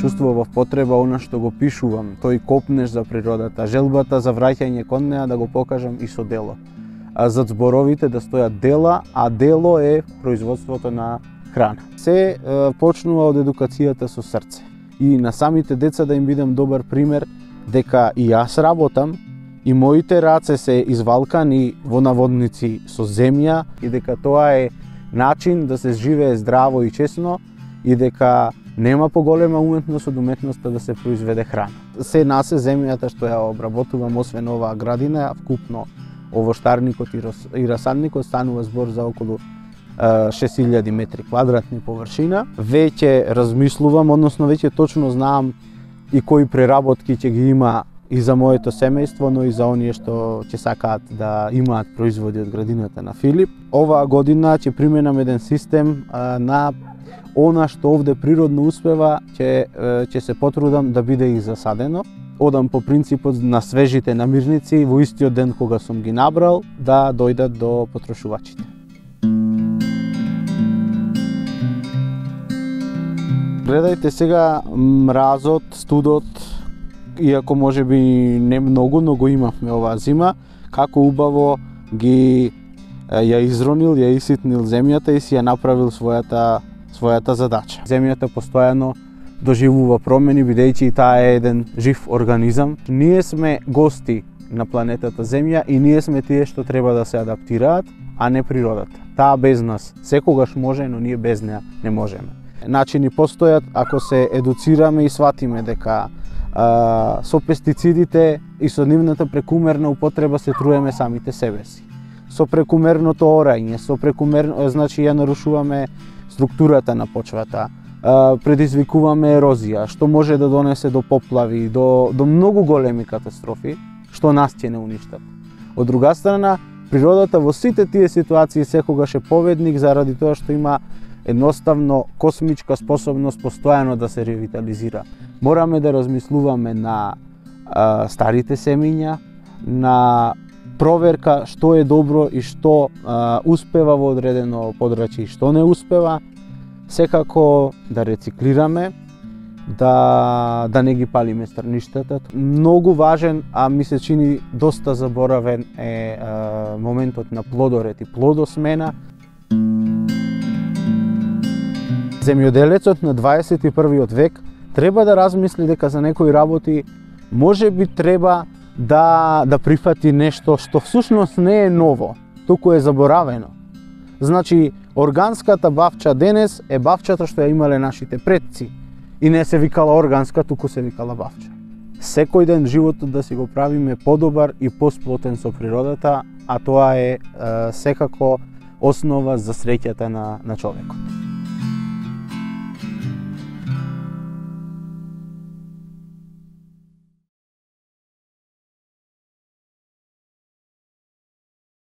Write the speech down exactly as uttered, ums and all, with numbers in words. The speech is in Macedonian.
чувствував потреба она што го пишувам, тој копнеш за природата, желбата за враќање кон неа да го покажам и со дело. А зад зборовите да стојат дела, а дело е производството на храна. Се е, почнува од едукацијата со срце. И на самите деца да им бидам добар пример дека и јас работам, и моите раце се извалкани во наводници со земја и дека тоа е начин да се живее здраво и честно и дека нема поголема уметност од уметноста да се произведе храна. Се насе земјата што ја обработувам, освен оваа градина, вкупно овоштарникот и расадникот станува збор за околу шест илјади метри квадратни површина. Веќе размислувам, односно веќе точно знаам и кои преработки ќе ги има и за моето семејство, но и за оние што ќе сакаат да имаат производи од градината на Филип. Оваа година ќе применам еден систем а, на она што овде природно успева, ќе ќе се потрудам да биде и засадено. Одам по принципот на свежите намирници во истиот ден кога сум ги набрал да дојдат до потрошувачите. Гледајте сега мразот, студот, иако може би не многу, но го имавме оваа зима, како убаво ги ја изронил, ја иситнил земјата и си ја направил својата својата задача. Земјата постојано доживува промени, бидејќи и таа е еден жив организам. Ние сме гости на планетата Земја и ние сме тие што треба да се адаптираат, а не природата. Таа без нас секогаш може, но ние без неа не можеме. Начини постојат ако се едуцираме и сватиме дека а, со пестицидите и со нивната прекумерна употреба се труеме самите себе си. Со прекумерното орање, со прекумерно, значи ја нарушуваме структурата на почвата, предизвикуваме ерозија, што може да донесе до поплави, до, до многу големи катастрофи, што нас ќе не уништат. Од друга страна, природата во сите тие ситуации секогаш е победник заради тоа што има едноставно космичка способност постојано да се ревитализира. Мораме да размислуваме на а, старите семиња, на проверка што е добро и што а, успева во одредено подрачје и што не успева. Секако да рециклираме, да, да не ги палиме страништата. Многу важен, а ми се чини доста заборавен е а, моментот на плодоред и плодосмена. Земјоделецот на дваесет и првиот век треба да размисли дека за некои работи може би треба да, да прифати нешто што всушност не е ново, туку е заборавено. Значи, органската бавча денес е бавчата што ја имале нашите предци и не се викала органска, туку се викала бавча. Секој ден животот да си го правиме подобар и посплотен со природата, а тоа е, е секако основа за среќата на, на човекот.